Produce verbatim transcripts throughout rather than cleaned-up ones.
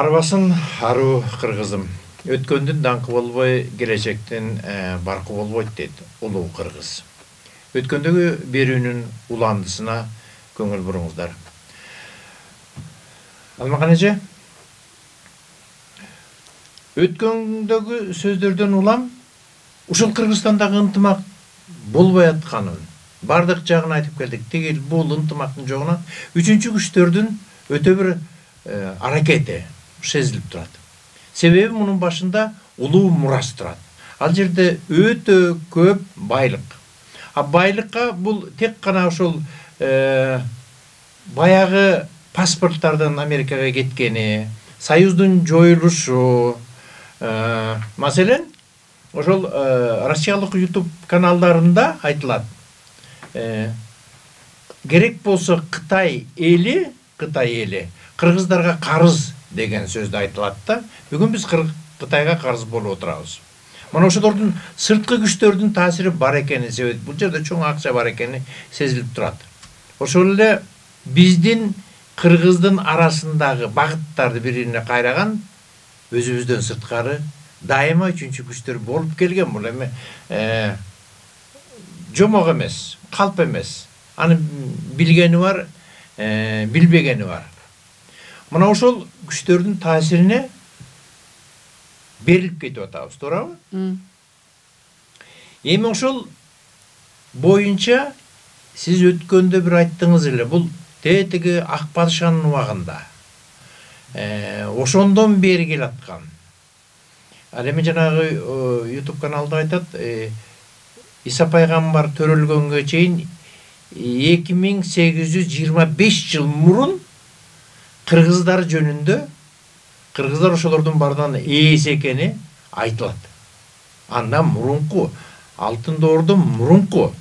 Арбасын аруу кыргызым. Өткөндүн даңкы болбой, келечектин баркы болбойт дейт улуу кыргыз. Өткөндөгү берүүнүн уландысына көңүл буруңуздар. Алмакан эже, өткөндөгү сөздөрдөн улам ушул Кыргызстандагы ынтымак болбой атканын бардык жагын айтып келдик. Тигил бул ынтымактын жогуна үчүнчү күчтөрдүн өтө бир аракети сезилип турат. Себеби мунун башында улуу мурас турат. Ал жерде өтө көп байлык. А байлыкка бул тек гана ошол баягы паспорттардын Америкага кеткени, союздун жоюлушу, маселен, ошол Россиялык YouTube каналдарында айтылат. Керек болсо Кытай эли, Кытай эли кыргыздарга карыз деген сөздү айтылат да. Бүгүн биз Кытайга карыз болуп отурабыз. Мына ошолордун сырткы күчтөрдүн таасири бар экени себеп, бул жерде чоң акча бар экени сезилип турат. Ошол эле биздин кыргыздын арасындагы багыттарды бирине кайраган өзүбүздөн сырткары дайыма үчүнчү күчтөр болуп келген. Бул эми жомок эмес, калп эмес. Аны билгени бар, билбегени бар. Мына ошол күчтөрдүн таасирине берилип кетип атабыз, туурабы? Эми ошол боюнча сиз өткөндө бир айттыңыз эле, бул тетиги ак падышанын убагында. Ошондон бери келаткан. Ал эми жанагы YouTube каналда айтат, Иса пайгамбар төрөлгөнгө чейин эки миң сегиз жүз жыйырма беш жыл мурун кыргыздар жөнүндө, кыргыздар ошолордун баарынан ээс экени айтылат. Андан мурунку, Алтын Доордон мурунку,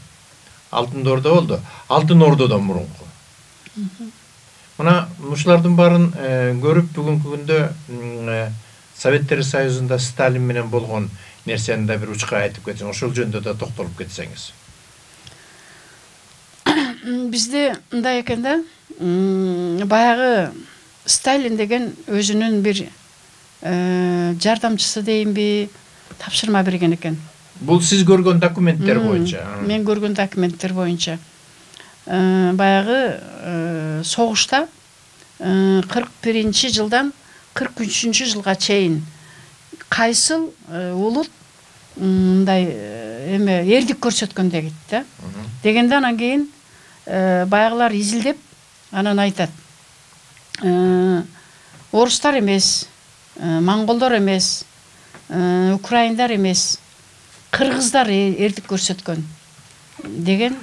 Алтын Доордо болду, Алтын Ордодон мурунку. Мына ушулардын баарын көрүп бүгүнкү күндө Советтер Союзунда Сталин менен болгон нерсени да бир учка айтып кетсең, ошол жөнүндө да токтолуп кетсеңиз. Бизде мындай экен да, баягы Сталин деген өзүнүн бир жардамчысы дейинби, тапшырма берген экен. Бул сиз көргөн документтер боюнча. Мен көргөн документтер боюнча. Баягы согушта кырк биринчи жылдан кырк үчүнчү жылга чейин кайсыл улут мындай эме эрдик көрсөткөн дегит да. Дегенде анан кийин баягылар изилдеп анан айтат. Орустар эмес, монголдор эмес, украиндар эмес, кыргыздар эрдик көрсөткөн деген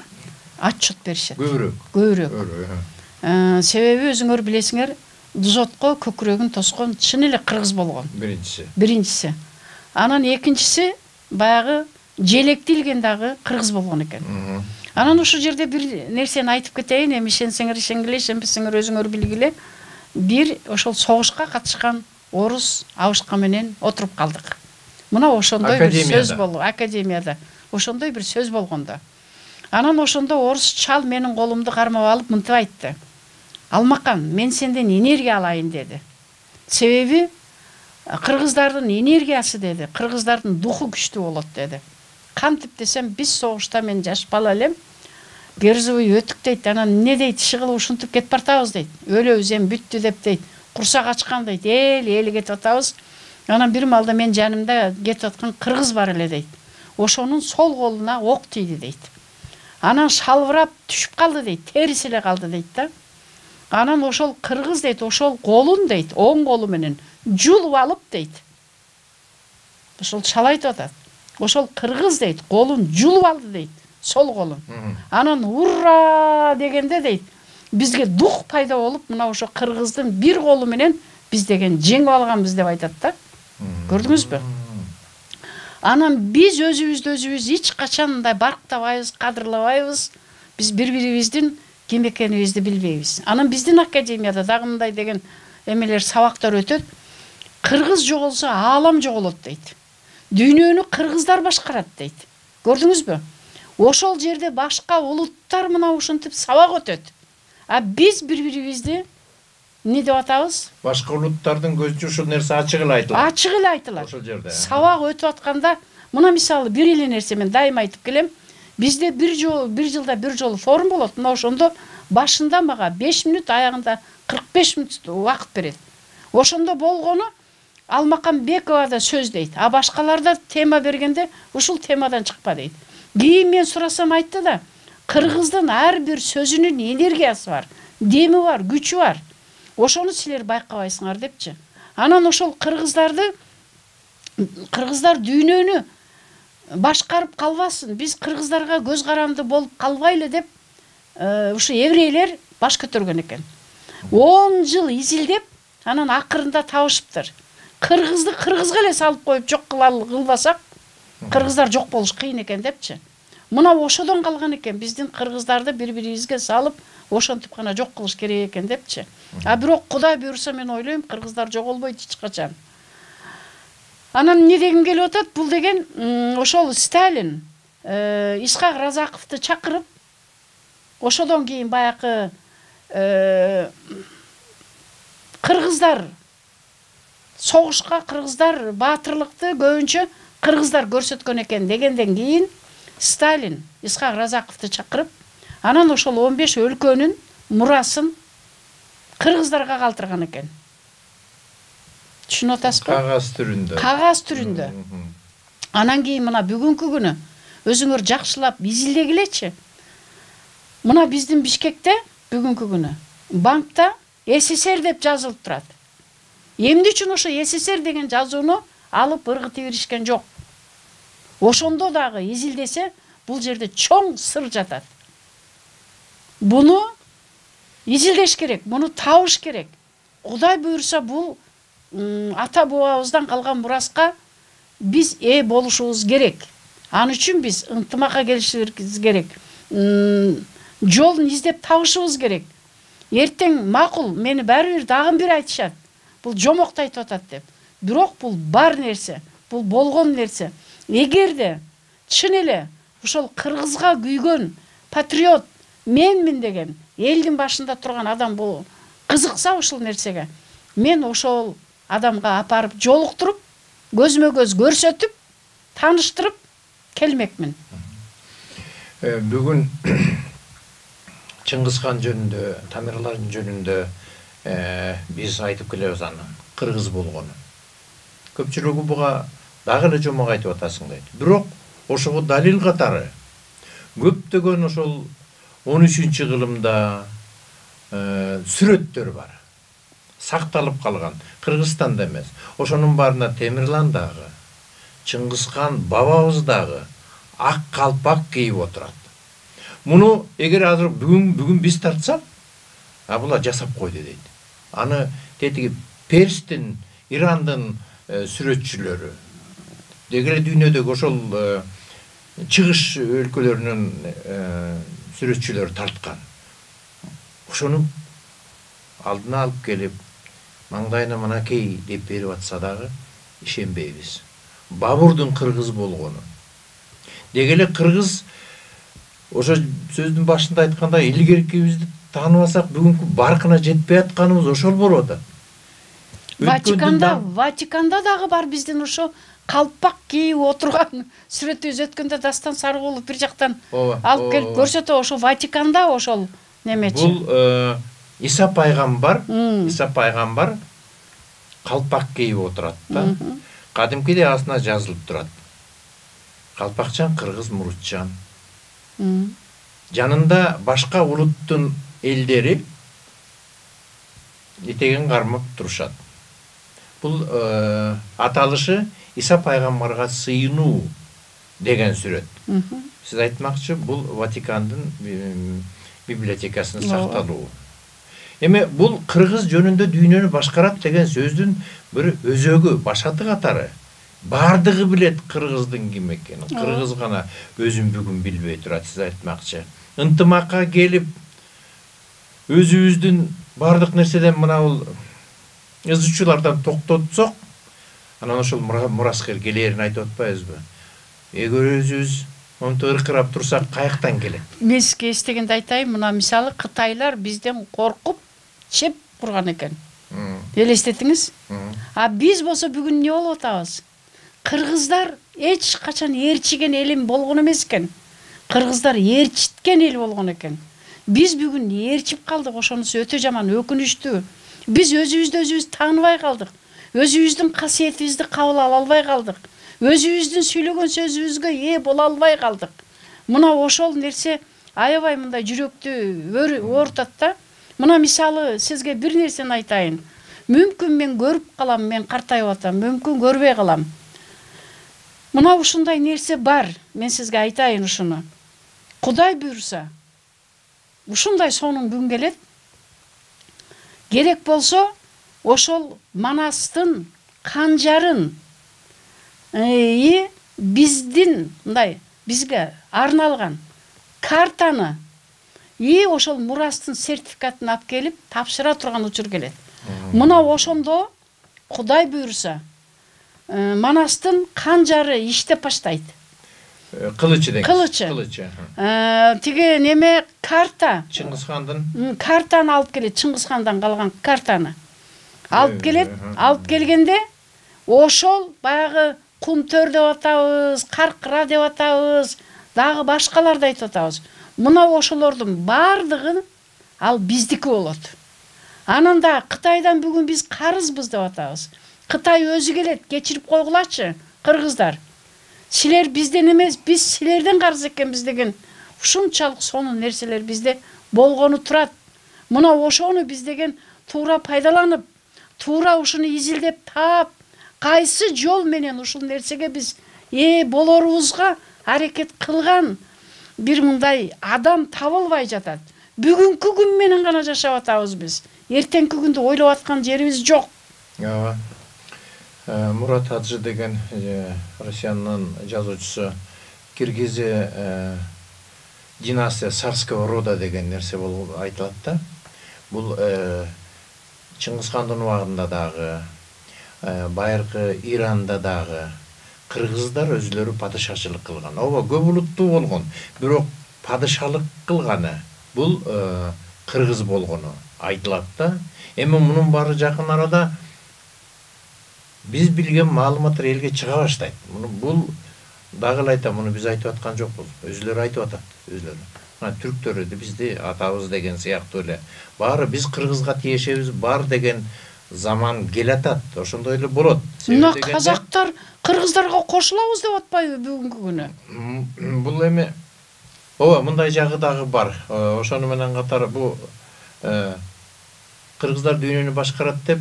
отчет беришет. Көбүрөөк. Көбүрөөк. Себеби өзүңөр билесиңер, Дузотко көкүрөгүн тоскон чын эле кыргыз болгон. Биринчиси. Биринчиси. Анан экинчиси баягы желекти илген дагы кыргыз болгон экен. Анан ушул жерде бир нерсени айтып кетейин, эми ишенсеңер ишенгиле, ишенбесеңер өзүңөр билгиле. Бир ошол согушка катышкан орус абышка менен отуруп калдык. Мына ошондой бир сөз болду академияда. Ошондой бир сөз болгондо. Анан ошондо орус чал менин колумду кармап алып мынтип айтты. Алмакан, мен сенден энергия алайын деди. Себеби кыргыздардын энергиясы деди, кыргыздардын духу күчтүү болот деди. Кантип десем, биз согушта мен жаш бала элем, Берзовый өтүк дейт, анан эмне дейт, ишигыл ушинтип кетип бартабыз дейт. Өлөбүз эми бүттү деп дейт. Курсак ачкан дейт, эл эли кетип атабыз. Анан бир малда мен жанымда кетип аткан кыргыз бар эле дейт. Ошонун сол колуна ок тийди дейт. Анан шалбырап түшүп калды дейт, териси эле калды дейт да. Анан ошол кыргыз дейт, ошол колун дейт, оң колу менен жулуп алып дейт. Ошол чал айтып атат. Ошол кыргыз дейт, колун жулуп алды дейт, сол колун. Анан ура дегенде дейт, бизге дух пайда болуп, мына ошо кыргыздын бир колу менен биз деген жеңип алганбыз деп айтат да. Көрдүңүзбү? Анан биз өзүбүздү өзүбүз эч качан мындай барктабайбыз, кадырлабайбыз. Биз бири-бирибиздин ким экенибизди билбейбиз. Анан биздин академияда дагы мындай деген эмелер, сабактар өтөт. Кыргыз жоголсо аалам жоголот дейт. Дүйнөнү кыргыздар башкарат дейт. Көрдүңүзбү? Ошол жерде башка улуттар мына ушинтип сабак өтөт. А биз бири-бирибизди эмне деп атабыз? Башка улуттардын көзүнчө ушул нерсе ачык эле айтылат. Ачык эле айтылат. Ошол жерде. Сабак өтүп атканда, мына мисалы бир эле нерсе мен дайыма айтып келем. Бизде бир жол, бир жылда бир жолу форум болот. Мына ошондо башында мага беш мүнөт, аягында кырк беш мүнөт убакыт берет. Ошондо болгону Алмакамбекова да сөз дейт. А башкаларда тема бергенде ушул темадан чыкпа дейт. Кийин мен сурасам айтты да, кыргыздын ар бир сөзүнүн энергиясы бар, деми бар, күчү бар. Ошону силер байкабайсыңар депчи. Анан ошол кыргыздарды кыргыздар дүйнөнү башкарып калбасын, биз кыргыздарга көз каранды болуп калбайлы деп ушу еврейлер баш көтөргөн экен. он жыл изилдеп, анан акырында табышыптыр. Кыргызды кыргызга эле салып коюп жок кылбасак, кыргыздар жок болуш кыйын экен депчи. Мына ошодон калган экен, биздин кыргыздарды бири-бирибизге салып, ошентип гана жок кылыш керек экен депчи. А бирок Кудай буйруса мен ойлойм, кыргыздар жоголбойт эч качан. Анан эмне дегим келип атат? Бул деген ошол Сталин Исхак Разаковду чакырып, ошодон кийин баякы кыргыздар согушка, кыргыздар баатырлыкты көбүнчө кыргыздар көрсөткөн экен дегенден кийин Сталин Исхак Разаковду чакырып, анан ошол он беш өлкөнүн мурасын кыргыздарга калтырган экен. Түшүнүп атасызбы? Кагаз түрүндө. Кагаз түрүндө. Анан кийин мына бүгүнкү күнү өзүңөр жакшылап изилдегилечи. Мына биздин Бишкекте бүгүнкү күнү банкта СССР деп жазылып турат. Эмне үчүн ошо СССР деген жазууну алып ыргытып беришкен жок? Ошондо дагы изилдесе, бул жерде чоң сыр жатат. Буну изилдеш керек, буну табыш керек. Кудай буйруса бул ата бабабыздан калган мураска биз ээ болушубуз керек. Ан үчүн биз ынтымакка келишибиз керек. Жолун издеп табышыбыз керек. Эртең макул, мени баары бир дагы бир айтышат. Бул жомокто айтып атат деп. Бирок бул бар нерсе, бул болгон нерсе. Эгерде чын эле ошол кыргызга күйгөн патриот менмин деген элдин башында турган адам бул кызыкса ушул нерсеге, мен ошол адамга апарып жолуктуруп, көзмө көз көрсөтүп, тааныштырып келмекмин. Бүгүн Чыңгызхан жөнүндө, Тамерлардын жөнүндө биз айтып келебиз аны, кыргыз болгону. Көпчүлүгү буга дагы эле жомок айтып атасың дейт. Бирок ошого далил катары көптөгөн ошол он үчүнчү кылымда сүрөттөр бар. Сакталып калган. Кыргызстанда эмес. Ошонун баарына Темирлан дагы, Чыңгызхан бабабыз дагы ак калпак кийип отурат. Муну эгер азыр бүгүн бүгүн биз тартсак, а булар жасап койду дейт. Аны тетиги Перстин, Ирандын сүрөтчүлөрү, дегеле дүйнөдөгү ошол чыгыш өлкөлөрүнүн сүрөтчүлөрү тарткан. Ошону алдына алып келип, маңдайына мынакей деп берип атса дагы ишенбейбиз. Бабурдун кыргыз болгону. Дегеле кыргыз ошо сөздүн башында айткандай илгеркибизди тааныбасак бүгүнкү баркына жетпей атканыбыз ошол болуп атат. Ватиканда, Ватиканда дагы бар биздин ошо калпак кийип отурган сүрөтүбүз өткөндө Дастан Сарыгулов бир жактан алып келип көрсөтө, ошо Ватиканда ошол немечи. Бул Иса пайгамбар, Иса пайгамбар калпак кийип отурат да. Кадимкидей астына жазылып турат. Калпакчан кыргыз мурутчан. Жанында башка улуттун элдери этеген кармап турушат. Бул аталышы Иса пайгамбарга сыйынуу деген сүрөт. Сиз айтмакчы, бул Ватикандын библиотекасында сакталуу. Эми бул кыргыз жөнүндө дүйнөнү башкарат деген сөздүн бир өзөгү, башаты катары. Бардыгы билет кыргыздын ким экенин. Кыргыз гана өзүн бүгүн билбей турат, сиз айтмакчы. Ынтымакка келип, өзүбүздүн бардык нерседен мына бул ызычуулардан токтотсок, анан ошол мураскер келээрин айтып атпайбызбы? Эгер өзүбүз монтип ыркырап турсак, каяктан келет? Мен сизге эстегенде айтайын, мына мисалы Кытайлар бизден коркуп, чеп курган экен. Элестетиңиз. А биз болсо бүгүн эмне болуп атабыз? Кыргыздар эч качан ээрчиген элим болгон эмес экен. Кыргыздар ээрчиткен эл болгон экен. Биз бүгүн ээрчип калдык, ошонусу өтө жаман, өкүнүчтүү. Биз өзүбүздү өзүбүз тааныбай калдык. Өзүбүздүн касиетибизди кабыл ала албай калдык. Өзүбүздүн сүйлөгөн сөзүбүзгө ээ боло албай калдык. Мына ошол нерсе аябай мындай жүрөктү оорутат да. Мына мисалы сизге бир нерсени айтайын. Мүмкүн мен көрүп калам, мен картайып атам, мүмкүн көрбөй калам. Мына ушундай нерсе бар. Мен сизге айтайын ушуну. Кудай буйруса, ушундай сонун күн келет. Керек болсо, ошол Манастын канжарын и биздин мындай бизге арналган картаны и ошол мурастын сертификатын алып келип тапшыра турган учур келет. Мына ошондо Кудай буйруса Манастын канжары иштеп баштайт. Кылычы деген. Кылычы. Кылычы. Тиги неме карта. Чыңгызхандын. Картаны алып келет, Чыңгызхандан калган картаны. Алып келет, алып келгенде ошол баягы Кумтөр деп атабыз, Каркыра деп атабыз, дагы башкаларды айтып атабыз. Мына ошолордун бардыгы ал биздики болот. Анан да Кытайдан бүгүн биз карызбыз деп атабыз. Кытай өзү келет, кечирип койгулачы, кыргыздар. Силер бизден эмес, биз силерден карыз экенбиз деген ушунчалык сонун нерселер бизде болгону турат. Мына ошону биз деген туура пайдаланып, туура ушуну изилдеп таап, кайсы жол менен ушул нерсеге биз ээ болорубузга аракет кылган бир мындай адам табылбай жатат. Бүгүнкү күн менен гана жашап атабыз биз. Эртеңки күндү ойлоп аткан жерибиз жок. Ооба. Мурат Хаджы деген Россиянын жазуучусу Киргизи династия царского рода деген нерсе болуп айтылат да. Бул Чыңгызхандын убагында дагы, байыркы Иранда дагы кыргыздар өзүлөрү падышачылык кылган. Ооба, көп улуттуу болгон, бирок падышалык кылганы бул кыргыз болгону айтылат да. Эми мунун баары жакын арада биз билген маалыматтар элге чыга баштайт. Муну бул дагы эле айтам, муну биз айтып аткан жокпуз. Өзүлөрү айтып атат, өзүлөрү. Мына түрктөр бизди атабыз деген сыяктуу эле. Баары биз кыргызга тиешебиз бар деген заман келатат. Ошондой эле болот. Мына казактар кыргыздарга кошулабыз деп атпайбы бүгүнкү күнү? Бул эми ооба, мындай жагы дагы бар. Ошону менен катар бу кыргыздар дүйнөнү башкарат деп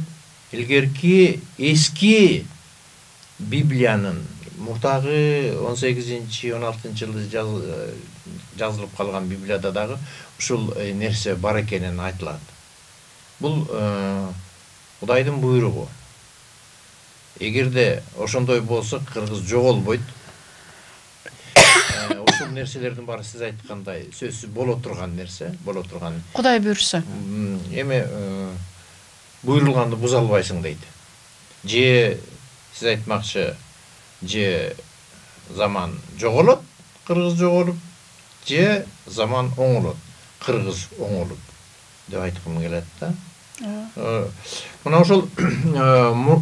илгерки эски Библиянын мурдагы он сегизинчи он алтынчы жылы жазылып калган Библияда дагы ушул нерсе бар экенин айтылат. Бул Кудайдын буйругу. Эгерде ошондой болсо кыргыз жоголбойт. Ушул нерселердин баары сиз айткандай сөзсүз боло турган нерсе, боло турган. Кудай буйруса. Эми буйрулганды буза албайсың дейт. Же сиз айтмакчы, же заман жоголот, кыргыз жоголуп, же заман оңолот, кыргыз оңолуп деп айткым келет да. Мына ошол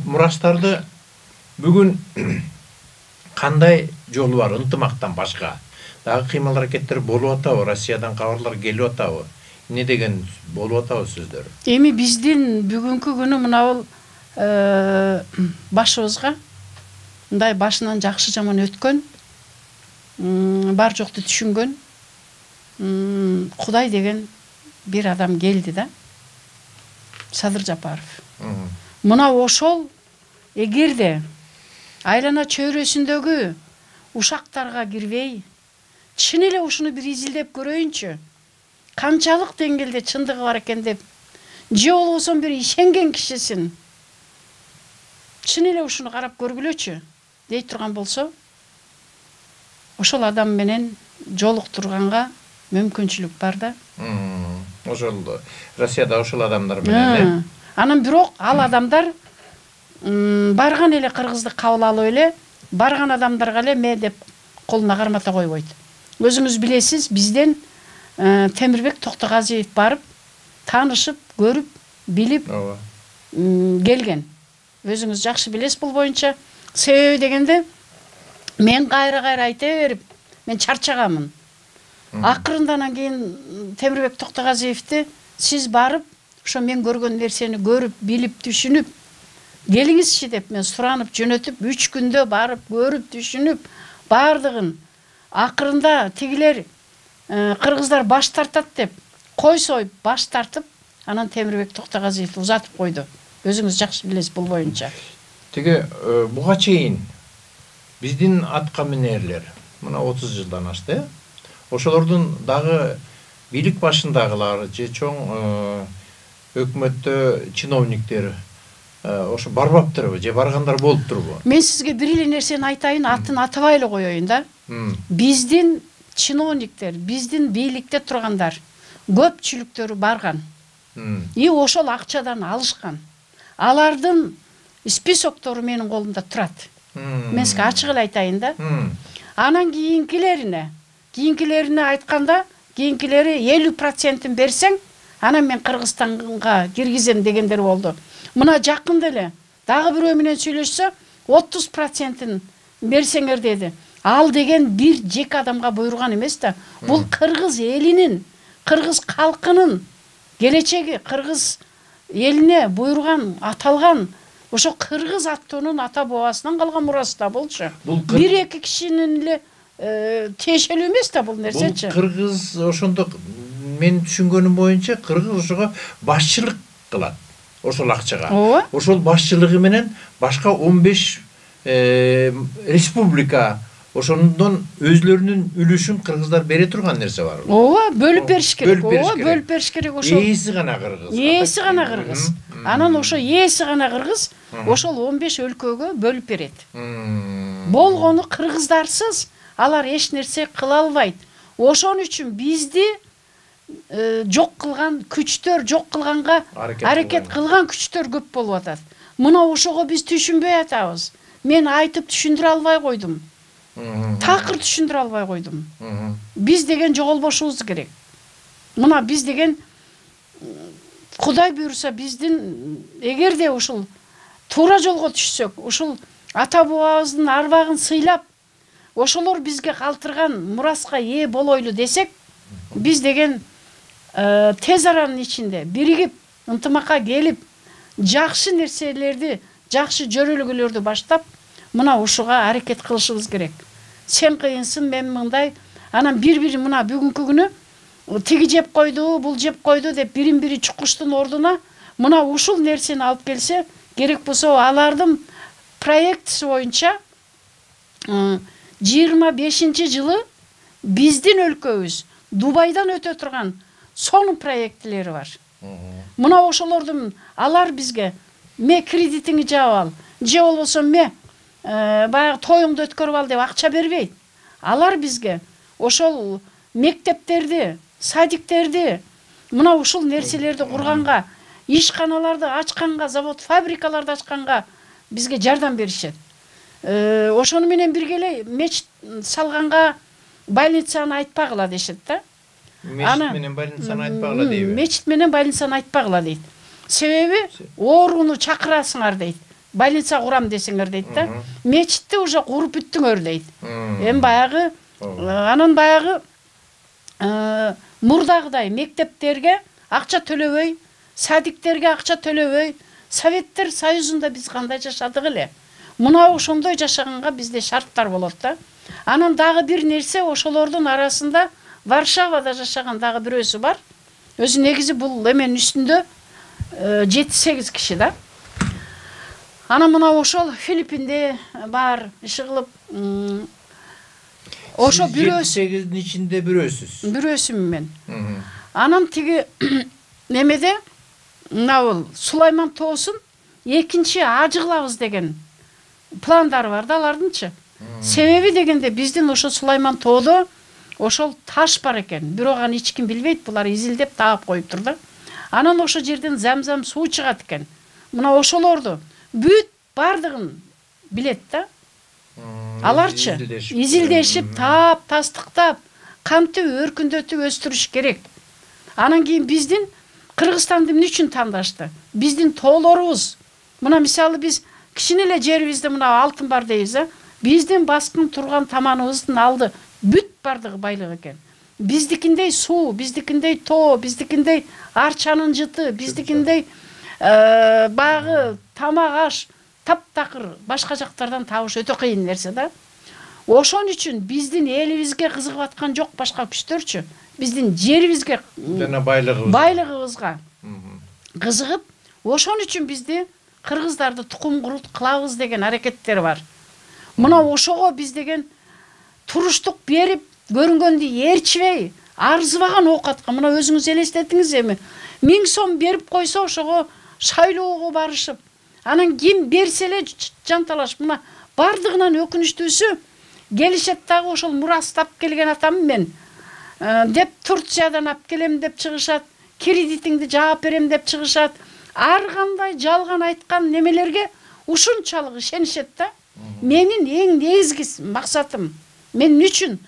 мурастарды бүгүн кандай жолу бар, ынтымактан башка дагы кыймыл аракеттер болуп атабы, Россиядан кабарлар келип атабы? Эмне деген болуп атабы сөздөр? Эми биздин бүгүнкү күнү мына бул башыбызга мындай башынан жакшы жаман өткөн, бар жокту түшүнгөн Кудай деген бир адам келди да. Садыр Жапаров. Мына ошол эгерде айлана чөйрөсүндөгү ушактарга кирбей, чын эле ушуну бир изилдеп көрөйүнчү. Канчалык деңгээлде чындыгы бар экен деп, же болбосо бир ишенген кишисин чын эле ушуну карап көргүлөчү дей турган болсо, ошол адам менен жолуктурганга мүмкүнчүлүк бар да. Ошол Россияда ошол адамдар менен э. Анан бирок ал адамдар барган эле кыргызды кабыл алып эле, барган адамдарга эле ме деп колуна кармата койбойт. Өзүңүз билесиз, бизден Темирбек Токтогазиев барып, таанышып, көрүп, билип ооба келген. Өзүңүз жакшы билесиз бул боюнча. Себеби дегенде мен кайра кайра айта берип мен чарчаганмын. Акырында анан кийин Темирбек Токтогазиевди сиз барып ошо мен көргөн нерсени көрүп, билип, түшүнүп келиңизчи деп мен суранып жөнөтүп, үч күндө барып көрүп, түшүнүп бардыгын акырында тигилер кыргыздар баш тартат деп кой союп баш тартып, анан Темирбек Токтогазиевди узатып койду. Өзүңүз жакшы билесиз бул боюнча. Тиги буга чейин биздин атка минерлер мына отуз жылдан ашты. Ошолордун дагы бийлик башындагылар же чоң өкмөттө чиновниктер ошо барбаптырбы же баргандар болуптурбу? Мен сизге бир эле нерсени айтайын, атын атабай эле коеюн да. Биздин чиновниктер, биздин бийликте тургандар көпчүлүктөрү барган. И ошол акчадан алышкан. Алардын списоктору менин колумда турат. Мен сизге ачык эле айтайын да. Анан кийинкилерине, кийинкилерине айтканда, кийинкилери элүү процентин берсең, анан мен Кыргызстанга киргизем дегендер болду. Мына жакында эле дагы бирөө менен сүйлөшсө, отуз процентин берсеңер деди. Ал деген бир жеке адамга буйруган эмес да. Бул кыргыз элинин, кыргыз калкынын келечеги, кыргыз элине буйруган, аталган ошо кыргыз аттуунун ата бабасынан калган мурасы да болчу. Бир эки кишинин эле тиешелүү эмес да бул нерсечи. Бул кыргыз ошондо мен түшүнгөнүм боюнча кыргыз ошого башчылык кылат. Ошол акчага. Ошол башчылыгы менен башка он беш республика ошондон өзлөрүнүн үлүшүн кыргыздар бере турган нерсе бар. Ооба, бөлүп бериш керек. Ооба, бөлүп бериш керек ошол. Ээси гана кыргыз. Ээси гана кыргыз. Анан ошо ээси гана кыргыз ошол он беш өлкөгө бөлүп берет. Болгону кыргыздарсыз алар эч нерсе кыла албайт. Ошон үчүн бизди жок кылган күчтөр, жок кылганга аракет кылган күчтөр көп болуп атат. Мына ошого биз түшүнбөй атабыз. Мен айтып түшүндүрө албай койдум. Такыр түшүндүрө албай койдум. Биз деген жоголбошубуз керек. Мына биз деген Кудай буйруса биздин эгерде ушул туура жолго түшсөк, ушул ата бабабыздын арбагын сыйлап, ошолор бизге калтырган мураска ээ болойлу десек, биз деген тез аранын ичинде биригип, ынтымакка келип, жакшы нерселерди, жакшы жөрөлгөлөрдү баштап, мына ушуга аракет кылышыбыз керек. Сен кыйынсың, мен мындай, анан бири-бири мына бүгүнкү күнү тиги жеп койду, бул жеп койду деп бирин-бири чукуштун ордуна мына ушул нерсени алып келсе, керек болсо алардын проектиси боюнча жыйырма бешинчи жылы биздин өлкөбүз Дубайдан өтө турган сонун проектилери бар. Мына ошолордун алар бизге ме кредитиңди жаап ал, же болбосо ме баягы тоюңду өткөрүп ал деп акча бербейт. Алар бизге ошол мектептерди, садиктерди, мына ушул нерселерди курганга, ишканаларды ачканга, завод, фабрикаларды ачканга бизге жардам беришет. Ошону менен бирге эле мечит салганга больницаны айтпагыла дешет да. Мечит менен больницаны айтпагыла дейби? Мечит менен больницаны айтпагыла дейт. Себеби ооруну чакырасыңар дейт. Больница курам десеңер дейт да. Мечитти уже куруп бүттүңөр дейт. Эми баягы анан баягы мурдагыдай мектептерге акча төлөбөй, садиктерге акча төлөбөй, Советтер Союзунда биз кандай жашадык эле. Мына ошондой жашаганга бизде шарттар болот да. Анан дагы бир нерсе, ошолордун арасында Варшавада жашаган дагы бирөөсү бар. Өзү негизи бул эменин үстүндө жети сегиз киши да. Анан мына ошол Филиппинде бар, иши кылып, ошо бирөөсү жети сегиздин ичинде бирөөсүз. Бирөөсүмүн мен. Анан тиги немеде мына бул Сулайман тоосун экинчи ажы кылабыз деген пландары бар да алардынчы. Себеби дегенде биздин ошо Сулайман тоодо ошол таш бар экен. Бирок аны эч ким билбейт, булар изилдеп таап коюптур да. Анан ошо жерден зам-зам суу чыгат экен. Мына ошолорду бүт бардыгын билет да. Аларчы изилдешип, таап, тастыктап, кантип өркүндөтүп өстүрүш керек. Анан кийин биздин Кыргызстанды эмне үчүн тандашты? Биздин тоолорубуз. Мына мисалы биз кичине эле жерибизде мына алтын бар дейбиз, а? Биздин баскын турган таманыбыздын алды бүт бардыгы байлык экен. Биздикиндей суу, биздикиндей тоо, биздикиндей арчанын жыты, биздикиндей багы, тамак аш таптакыр башка жактардан табыш өтө кыйын нерсе да. Ошон үчүн биздин элибизге кызыгып аткан жок башка күчтөрчү. Биздин жерибизге жана байлыгыбызга байлыгыбызга кызыгып, ошон үчүн бизди кыргыздарды тукум курут кылабыз деген аракеттер бар. Мына ошого биз деген туруштук берип, көрүнгөндү ээрчибей, арзыбаган оокатка мына өзүңүз элестетиңиз эми. миң сом берип койсо ошого шайлоого барышып, анан ким берсе эле жанталаш. Мына бардыгынан өкүнүчтүүсү келишет дагы ошол мурастап келген атам мен деп Турциядан алып келем деп чыгышат, кредитиңди жаап берем деп чыгышат. Ар кандай жалган айткан немелерге ушунчалык ишенишет да. Менин эң негизги максатым, мен үчүн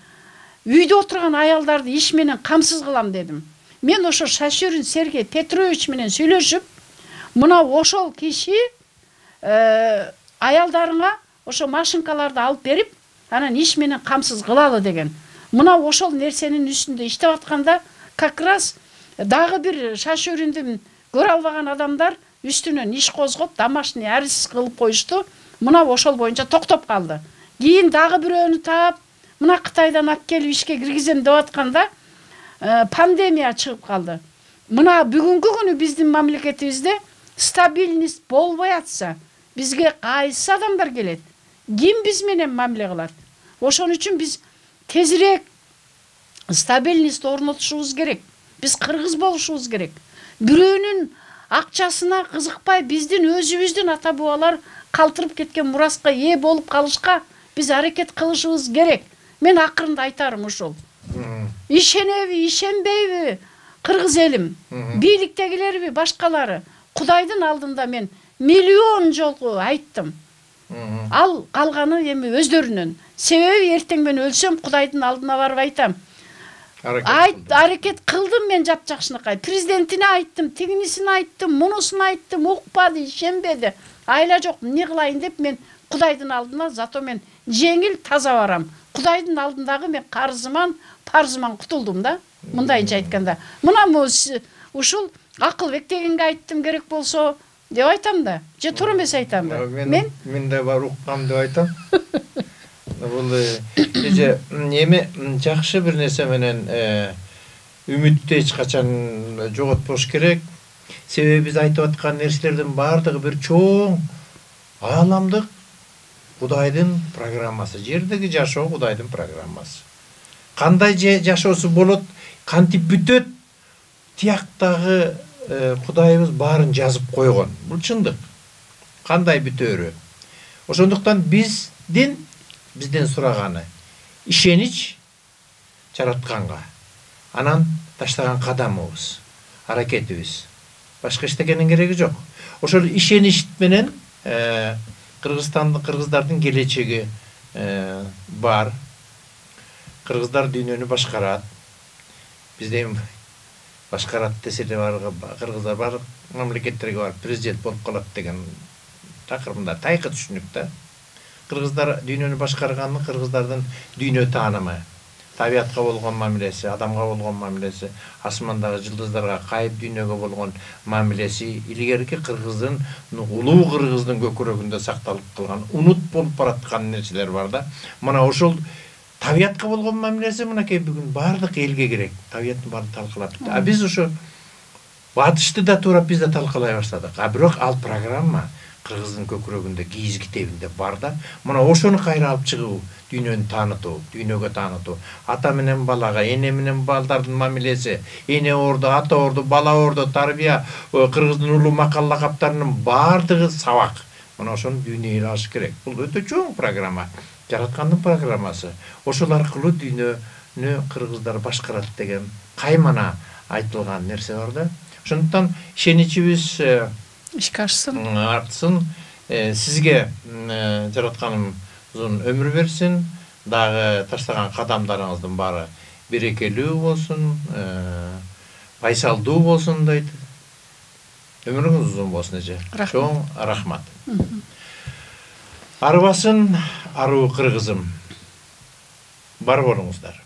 үйдө отурган аялдарды иш менен камсыз кылам дедим. Мен ошо Шашурин Сергей Петрович менен сүйлөшүп, мына ошол киши аялдарыңа ошо машинкаларды алып берип, анан иш менен камсыз кылалы деген. Мына ошол нерсенин үстүндө иштеп атканда, как раз дагы бир Шашуринди көрө албаган адамдар үстүнөн иш козгоп, домашний арест кылып коюшту. Мына ошол боюнча токтоп калды. Кийин дагы бирөөнү таап, мына Кытайдан алып келип ишке киргизем деп атканда, пандемия чыгып калды. Мына бүгүнкү күнү биздин мамлекетибизде стабильность болбой атса, бизге кайсы адамдар келет? Ким биз менен мамиле кылат? Ошон үчүн биз тезирээк стабильность орнотушубуз керек. Биз кыргыз болушубуз керек. Бирөөнүн акчасына кызыкпай, биздин өзүбүздүн ата бабалар калтырып кеткен мураска ээ болуп калышка биз аракет кылышыбыз керек. Мен акырында айтарым ушул. Ишенеби, ишенбейби кыргыз элим, бийликтегилерби, башкалары, Кудайдын алдында мен миллион жолку айттым. Ал калганы эми өздөрүнөн. Себеби эртең мен өлсөм Кудайдын алдына барып айтам. Айт, аракет кылдым мен жапжакшынакай. Президентине айттым, тигинисине айттым, мунусуна айттым, укпады, ишенбеди. Айла жок, эмне кылайын деп мен Кудайдын алдына зато мен жеңил таза барам. Кудайдын алдындагы мен карызыман, парзыман кутулдум да. Мындайынча айтканда. Мына ушул Акылбек дегенге айттым керек болсо деп айтам да. Же туура эмес айтам да. Мен мен да бар уккам деп айтам. Бул эже эми жакшы бир нерсе менен үмүттү эч качан жоготпош керек. Себеби биз айтып аткан нерселердин бардыгы бир чоң ааламдык Кудайдын программасы. Жердеги жашоо Кудайдын программасы. Кандай жашоосу болот, кантип бүтөт, тияктагы Кудайыбыз баарын жазып койгон. Бул чындык. Кандай бүтөөрү. Ошондуктан биздин бизден сураганы ишенич жаратканга, анан таштаган кадамыбыз, аракетибиз. Башка эчтекенин кереги жок. Ошол ишенич менен Кыргызстандын кыргыздардын келечеги бар. Кыргыздар дүйнөнү башкарат. Бизде башкарат десе эле бар, кыргыздар бар мамлекеттерге барып президент болуп калат деген такырында тайкы түшүнүк да. Кыргыздар дүйнөнү башкарганы кыргыздардын дүйнө таанымы, табиятка болгон мамилеси, адамга болгон мамилеси, асмандагы жылдыздарга, кайып дүйнөгө болгон мамилеси илгерки кыргыздын, улуу кыргыздын көкүрөгүндө сакталып калган, унут болуп бараткан нерселер бар да. Мына ошол табиятка болгон мамилеси мынакей бүгүн бардык элге керек. Табияттын баарын талкылап. А биз ошо батышты да туурап биз да талкалай баштадык. А бирок ал программа кыргыздын көкүрөгүндө, кийиз китебинде бар да. Мына ошону кайра алып чыгуу, дүйнөнү таанытуу, дүйнөгө таанытуу. Ата менен балага, эне менен балдардын мамилеси, эне орду, ата орду, бала орду, тарбия, кыргыздын улуу макал лакаптарынын бардыгы сабак. Мына ошону дүйнөгө алыш керек. Бул өтө чоң программа. Жараткандын программасы. Ошол аркылуу дүйнөнү кыргыздар башкарат деген каймана айтылган нерсе бар да. Ошондуктан ишеничибиз ишке ашсын. Артсын. Сизге жаратканымыздын өмүр берсин. Дагы таштаган кадамдарыңыздын баары берекелүү болсун, пайсалдуу болсун дейт. Өмүрүңүз узун болсун эже. Рахмат. Чоң рахмат. Арбасын аруу кыргызым. Бар болуңуздар.